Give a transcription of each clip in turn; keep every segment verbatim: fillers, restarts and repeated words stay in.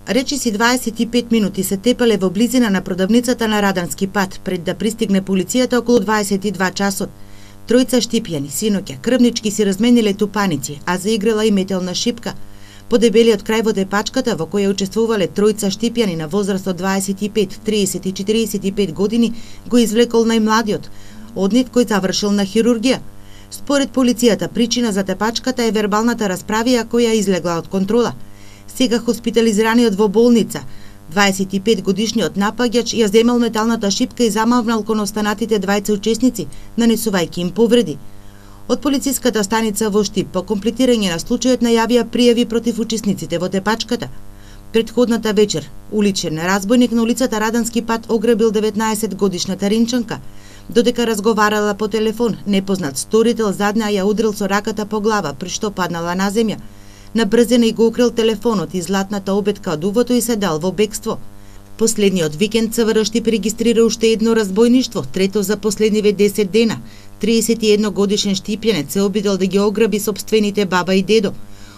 Речиси дваесет и пет минути се тепале во близина на продавницата на Радански пат пред да пристигне полицијата околу дваесет и два часот. Тројца штипјани, синоќа, крвнички си размениле тупаници, а заиграла и метелна шипка. По дебелиот крај во тепачката во која учествувале тројца штипјани на возраст од дваесет и пет, триесет и четириесет и пет години, го извлекол најмладиот, од нив кој завршил на хирургија. Според полицијата, причина за тепачката е вербалната расправија која излегла од контрола. Сега хоспитализираниот во болница, дваесет и пет годишниот напаѓач ја земал металната шипка и замавнал кон останатите двајца учесници, нанесувајќи им повреди. Од полициската станица во Штип по комплетирање на случајот најавија пријави против учесниците во тепачката. Претходната вечер, уличен разбойник на улицата Радански пат ограбил деветнаесет годишната ринчанка. Додека разговарала по телефон, непознат сторител задна ја удрил со раката по глава, при што паднала на земја. На брзина и го украл телефонот и златната обетка од увото и се дал во бегство. Последниот викенд ЦВР Штип регистрира уште едно разбойништво, трето за последниве десет дена. триесет и едно годишен штипјанец се обидел да ги ограби сопствените баба и дедо.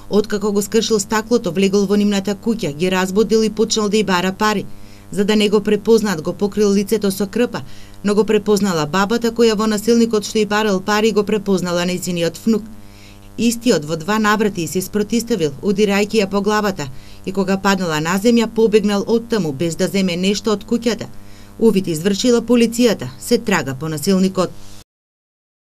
Откако го скршил стаклото, влегол во нивната куќа, ги разбудил и почнал да ја бара пари. За да не го препознаат, го покрил лицето со крпа, но го препознала бабата која во насилникот што ја барал пари го препознала нејзиниот внук. Истиот во два наврати се спротиставил, удирајќи ја по главата, и кога паднала на земја побегнал оттаму без да земе нешто од куќата. Увид извршила полицијата, се трага по насилникот.